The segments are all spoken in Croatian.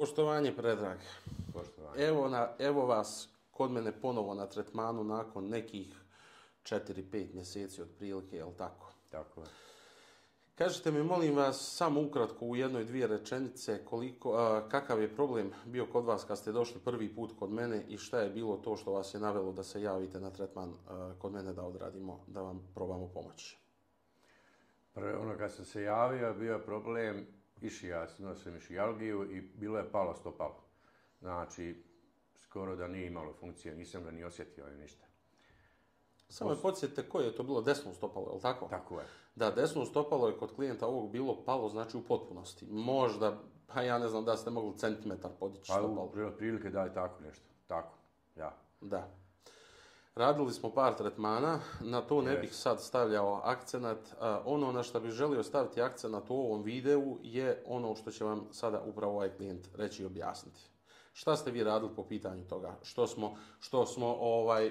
Poštovanje, Predrag. Poštovanje. Evo vas kod mene ponovo na tretmanu nakon nekih 4-5 mjeseci otprilike, jel tako? Tako je. Kažite mi, molim vas, samo ukratko u jednoj, dvije rečenice, kakav je problem bio kod vas kad ste došli prvi put kod mene i šta je bilo to što vas je navelo da se javite na tretman kod mene da odradimo, da vam probamo pomoći? Kad sam se javio, bio je problem išija, imao sam išijalgiju i bilo je palo stopalo. Znači, skoro da nije imalo funkcije, nisam ga ni osjetio ni ništa. Samo me podsjetite koje je to bilo desno stopalo, je li tako? Tako je. Da, desno stopalo je kod klijenta ovog bilo palo, znači u potpunosti. Možda, pa ja ne znam da ste mogli centimetar podići stopalo. Pa prilike da je tako nešto. Tako, ja. Da. Radili smo par tretmana, na to ne bih sad stavljao akcenat. Ono na što bih želio staviti akcenat u ovom videu je ono što će vam sada upravo ovaj klijent reći i objasniti. Šta ste vi radili po pitanju toga? Što smo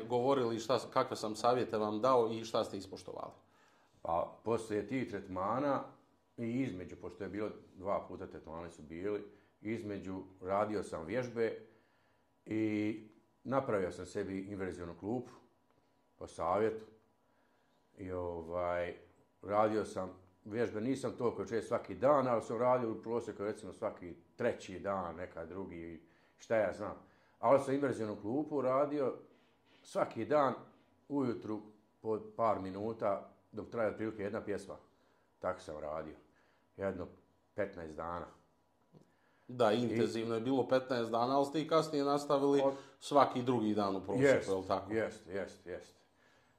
govorili, kakve sam savjete vam dao i šta ste ispoštovali? Pa poslije tih tretmana i između, pošto je bilo 2 puta tretmani su bili, između radio sam vježbe i napravio sam sebi inverzionu klupu po savjetu i radio sam vježbe, nisam toliko često svaki dan, ali sam radio u prosjeku recimo svaki 3. dan, nekad drugi, šta ja znam. Ali sam inverzionu klupu radio svaki dan ujutru po par minuta dok traje otprilike jedna pjesma. Tako sam radio. Jedno 15 dana. Da, intenzivno je bilo 15 dana, ali ste i kasnije nastavili svaki drugi dan u prosjeku, je li tako? Jest.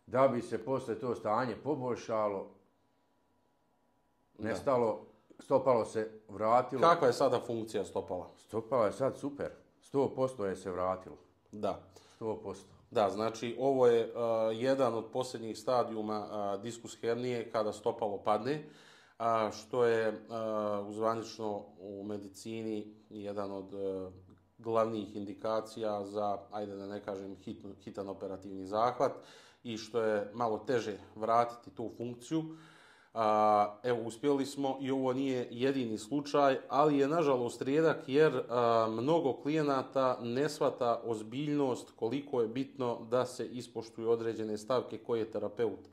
Da bi se posle to stanje poboljšalo, nestalo, stopalo se vratilo. Kakva je sada funkcija stopala? Stopala je sad super. 100% je se vratilo. Da. 100%. Da, znači ovo je jedan od posljednjih stadijuma diskus hernije kada stopalo padne, što je zvanično u medicini jedan od glavnih indikacija za, ajde da ne kažem, hitan operativni zahvat i što je malo teže vratiti tu funkciju. Evo, uspjeli smo i ovo nije jedini slučaj, ali je nažalost rijedak jer mnogo klijenata ne shvata ozbiljnost koliko je bitno da se ispoštuju određene stavke koje terapeut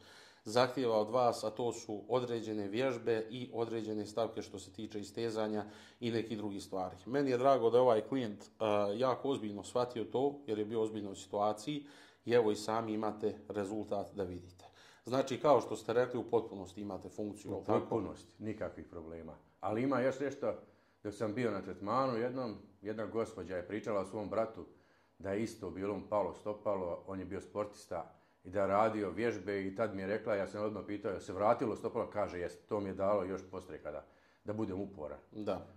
zahtijeva od vas, a to su određene vježbe i određene stavke što se tiče istezanja i neki drugi stvari. Meni je drago da je ovaj klijent jako ozbiljno shvatio to jer je bio u ozbiljnoj situaciji i evo i sami imate rezultat da vidite. Znači, kao što ste rekli, u potpunosti imate funkciju. U potpunosti, nikakvih problema. Ali ima još nešto, dok sam bio na tretmanu jednom, jedna gospođa je pričala o svom bratu da je isto bilo mu palo stopalo, on je bio sportista i da je radio vježbe i tad mi je rekla, ja sam odmah pitao, je se vratilo stopalo, kaže jest, to mi je dalo još poslije da budem uporan. Da,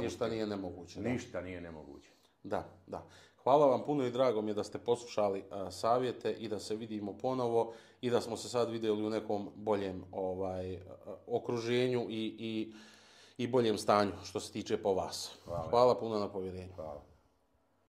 ništa nije nemoguće. Ništa nije nemoguće. Da. Hvala vam puno i drago mi je da ste poslušali savjete i da se vidimo ponovo i da smo se sad vidjeli u nekom boljem okruženju i boljem stanju što se tiče po vas. Hvala puno na povjerenju. Hvala.